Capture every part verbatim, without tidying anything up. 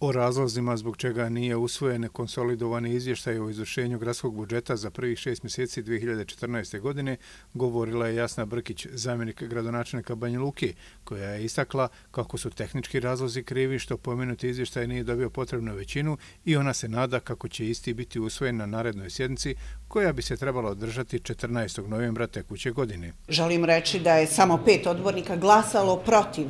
O razlozima zbog čega nije usvojen konsolidovani izvještaj o izvršenju gradskog budžeta za prvih šest mjeseci dvije hiljade četrnaeste. godine govorila je Jasna Brkić, zamjenik gradonačelnika Banja Luke, koja je istakla kako su tehnički razlozi krivi što pomenuti izvještaj nije dobio potrebnu većinu i ona se nada kako će isti biti usvojen na narednoj sjednici koja bi se trebala održati četrnaestog novembra tekuće godine. Želim reći da je samo pet odbornika glasalo protiv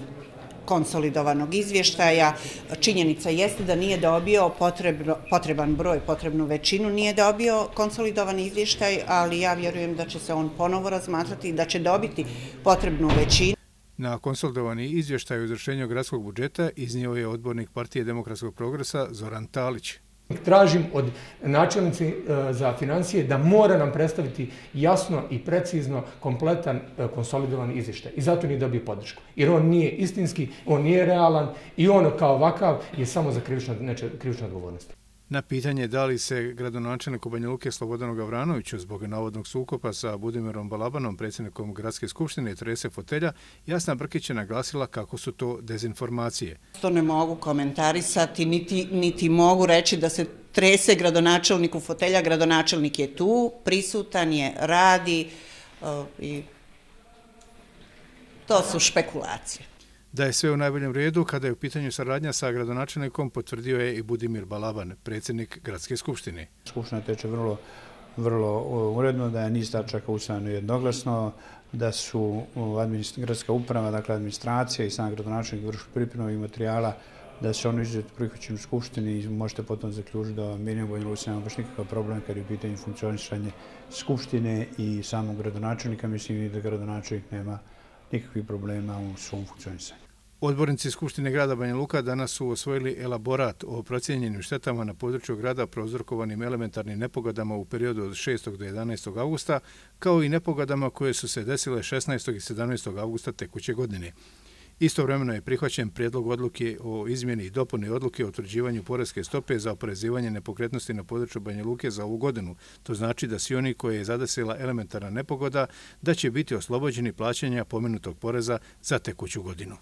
konsolidovanog izvještaja. Činjenica jeste da nije dobio potrebno, potreban broj, potrebnu većinu, nije dobio konsolidovani izvještaj, ali ja vjerujem da će se on ponovo razmatrati i da će dobiti potrebnu većinu. Na konsolidovani izvještaj o izvršenju gradskog budžeta iznio je odbornik Partije demokratskog progresa Zoran Talić. Tražim od načelnice za financije da mora nam predstaviti jasno i precizno kompletan konsolidovani izvještaj. I zato nije dobio podršku. Jer on nije istinski, on nije realan i on kao ovakav je samo za krivičnu odgovornost. Na pitanje da li se gradonačelniku Banja Luke Slobodanu Gavranoviću zbog navodnog sukoba sa Budimirom Balabanom, predsjednikom Gradske skupštine, trese fotelja, Jasna Brkić je naglasila kako su to dezinformacije. To ne mogu komentarisati, niti, niti mogu reći da se trese gradonačelniku fotelja. Gradonačelnik je tu, prisutan je, radi uh, i to su špekulacije. Da je sve u najboljem redu kada je u pitanju saradnja sa gradonačelnikom, potvrdio je i Budimir Balaban, predsjednik Gradske skupštine. Skupština teče vrlo, vrlo uredno, da je niz tačaka usvojeno jednoglasno, da su gradska uprava, dakle administracija i sam gradonačelnik vršili pripremu materijala, da se ono izuzetno prihvaćeno u Skupštini i možete potom zaključiti da mi u Banja Luci nema baš nikakav problem kad je u pitanju funkcionisanje Skupštine i samog gradonačelnika. Mislim i da gradonačelnik nema nikakvih problema u svom funkcionisanju. Odbornici Skupštine grada Banja Luka danas su osvojili elaborat o procijenjenim štetama na području grada prouzrokovanim elementarnim nepogodama u periodu od šestog do jedanaestog avgusta, kao i nepogodama koje su se desile šesnaestog i sedamnaestog avgusta tekuće godine. Istovremeno je prihvaćen prijedlog odluke o izmjeni i dopuni odluke o utvrđivanju poreske stope za oporezivanje nepokretnosti na području Banja Luke za ovu godinu. To znači da svi oni koje je zadesila elementarna nepogoda da će biti oslobođeni plaćanja pomenutog poreza za tekuću godinu.